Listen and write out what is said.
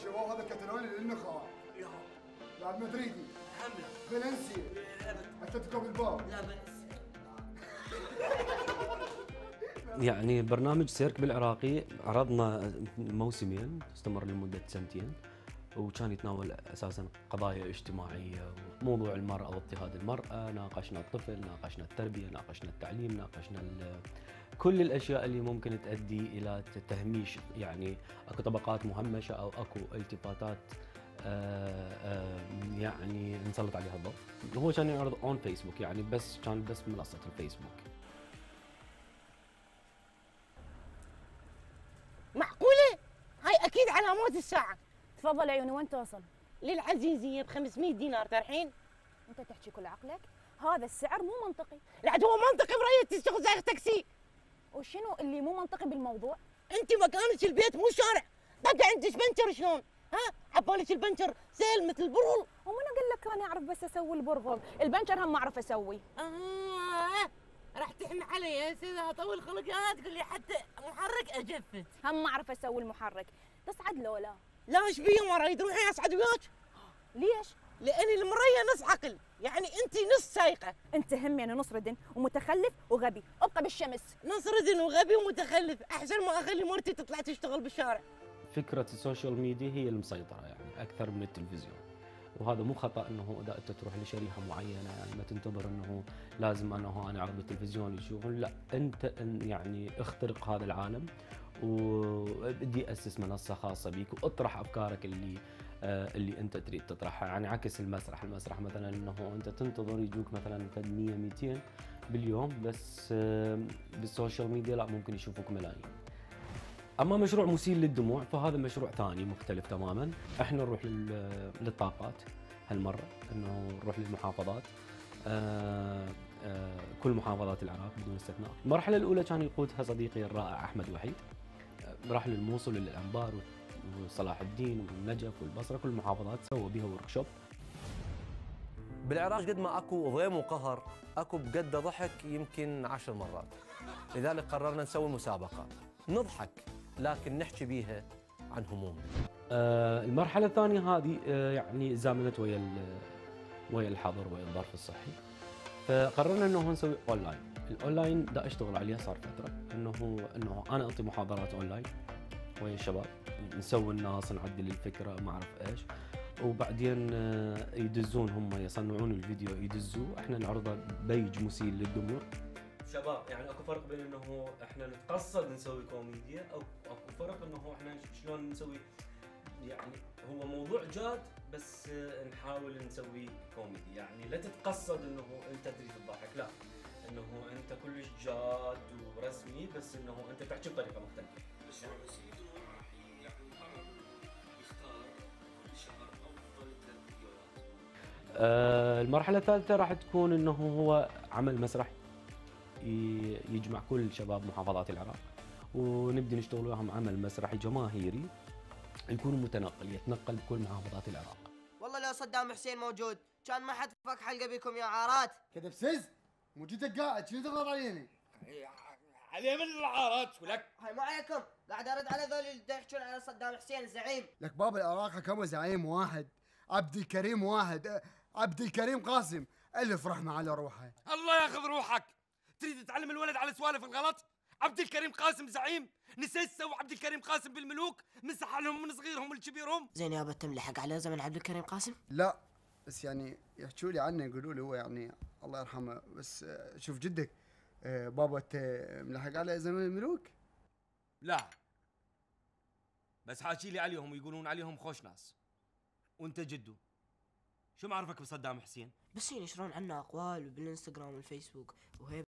شباب هذا كتالوني للنخاع. لا لاعب مدريدي. حمله. فالنسيا. ابد. اتلتيكو بالباو. لا بأس. يعني برنامج سيرك بالعراقي عرضنا موسمين استمر لمدة سنتين، وكان يتناول اساسا قضايا اجتماعيه وموضوع المراه واضطهاد المراه، ناقشنا الطفل، ناقشنا التربيه، ناقشنا التعليم، ناقشنا كل الاشياء اللي ممكن تؤدي الى تهميش، يعني اكو طبقات مهمشه او اكو التفاتات يعني نسلط عليها الضوء. هو كان يعرض اون فيسبوك، يعني كان بس منصه الفيسبوك. معقولة؟ هاي أكيد علامات الساعة. تفضل عيوني، وين توصل؟ للعزيزية ب 500 دينار ترحين؟ أنت تحكي كل عقلك؟ هذا السعر مو منطقي. لا هو منطقي برأيي تشتغل زي تاكسي. وشنو اللي مو منطقي بالموضوع؟ أنت مكانك البيت مو شارع، طق عندك بنشر شلون؟ ها؟ عبالك البنشر سهل مثل البرغل. ومنو قال لك أنا أعرف بس أسوي البرغل؟ البنشر هم ما أعرف أسوي. راح تحن علي يا سيدة طول خلقها تقول لي حتى محرك أجفت. هم ما أعرف أسوي المحرك، تصعد لولا؟ لا ايش بيه مرة تروحين أصعد وياك؟ ليش؟ لأني المرية نص عقل، يعني أنت نص سايقة. أنت هم يعني نص ردن ومتخلف وغبي، ابقى بالشمس. نص ردن وغبي ومتخلف، أحسن ما أخلي مرتي تطلع تشتغل بالشارع. فكرة السوشيال ميديا هي المسيطرة يعني أكثر من التلفزيون، وهذا مو خطأ أنه إذا أنت تروح لشريحة معينة، يعني ما تنتظر أنه لازم أنه أنا أعرض بالتلفزيون يشوفون، لا أنت يعني اخترق هذا العالم وبدي أسس منصة خاصة بيك وأطرح أفكارك اللي أنت تريد تطرحها، يعني عكس المسرح مثلا أنه أنت تنتظر يجوك مثلا 100-200 باليوم، بس بالسوشيال ميديا لا، ممكن يشوفوك ملايين. اما مشروع مسيل للدموع فهذا مشروع ثاني مختلف تماما، احنا نروح للطاقات هالمره، انه نروح للمحافظات، كل محافظات العراق بدون استثناء. المرحله الاولى كان يقودها صديقي الرائع احمد وحيد، راح للموصل وللانبار وصلاح الدين والنجف والبصره، كل المحافظات سوى بها ورك شوب. بالعراق قد ما اكو ضيم وقهر اكو بقد ضحك يمكن 10 مرات، لذلك قررنا نسوي مسابقه نضحك لكن نحكي بيها عن همومنا. المرحلة الثانية هذه يعني زامنت ويا الحظر ويا الظرف الصحي، فقررنا انه نسوي اونلاين. الاونلاين دا اشتغل عليها صار فترة، انه انا اعطي محاضرات اونلاين ويا الشباب، نسوي الناس، نعدل الفكرة، ما اعرف ايش، وبعدين يدزون هم يصنعون الفيديو يدزوه، احنا نعرضه بيج مسيل للدموع. شباب يعني اكو فرق بين انه احنا نتقصد نسوي كوميديا او اكو فرق انه احنا شلون نسوي، يعني هو موضوع جاد بس نحاول نسوي كوميدي، يعني لا تتقصد انه انت تريد تضحك، لا، انه انت كلش جاد ورسمي بس انه انت تحكي بطريقه مختلفه. بس يعني راح يقرر يختار كل شهر افضل 3 فيديوهات. المرحله الثالثه راح تكون انه هو عمل مسرحي يجمع كل شباب محافظات العراق، ونبدي نشتغل وياهم عمل مسرحي جماهيري يكون متنقل يتنقل بكل محافظات العراق. والله لو صدام حسين موجود كان ما حد فك حلقه بكم يا عارات. كذب سز موجودك قاعد شنو تضغط عليني؟ عليه من العارات ولك. هاي ما عليكم، قاعد ارد على ذول اللي يحجون على صدام حسين الزعيم. لك باب العراق حكمه زعيم واحد، عبد الكريم واحد، عبد الكريم قاسم، الف رحمه على روحه. الله ياخذ روحك، تريد تعلم الولد على سوالف الغلط؟ عبد الكريم قاسم زعيم، نسيت سوى عبد الكريم قاسم بالملوك، مسح لهم من صغيرهم لكبيرهم. زين يابا تملحق على زمن عبد الكريم قاسم؟ لا بس يعني يحكوا لي عنه، يقولوا لي هو يعني الله يرحمه، بس شوف جدك بابا انت ملحق على زمن الملوك؟ لا بس حاكي لي عليهم ويقولون عليهم خوش ناس، وانت جدو شو معرفك بصدام حسين؟ بس ينشرون عنه اقوال بالانستغرام والفيسبوك وهيب.